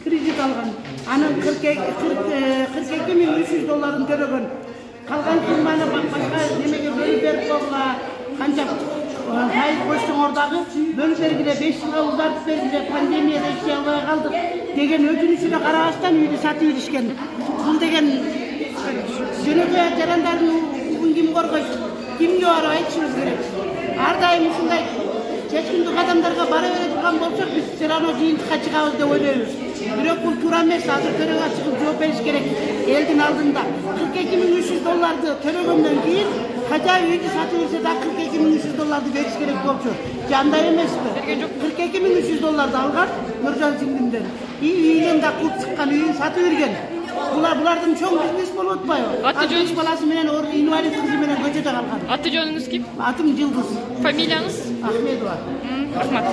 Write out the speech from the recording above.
кредит алган. Анын 42.300 долларын төлөгөн. Калган сумманы башка немеге бөлүп берип койгула. Канча файыз койсоңор дагы бөлүп бергиле, 5 жылга узартып бергиле, пандемияда иштей албай калдык деген өтүнүшүнө карабастан үйдү сатып беришкен. Бул деген жөнөкөй жарандардын укугун ким коргойт? Кимге барып айтышыбыз керек? Ар дайым ушундай чечкиндик кадамдарга бара бере турган болсок, биз все равно жыйынтыкка чыгабыз деп ойлойбуз. Бирок бул туура эмес. Азыр төрөгө чыгып жооп бериш керек элдин алдында. 42.300 долларды төлөгөндөн кийин хотя үйдү сатып берсе да 42.300 долларды бериш керек болчу. Жандай эмеспи? 42.300 долларды алган Нуржан сиңдимден. Үйүнөн да кулп чыккан, үйүн сатып берген. Булардын чоң бизнес болуп атпайбы? Аты баласы менен инвалид кызы менен көчөдө калган. Аты жөнүңүз ким? Атым Жылдыз. Фамилияңыз? Ахмедова. Рахмат.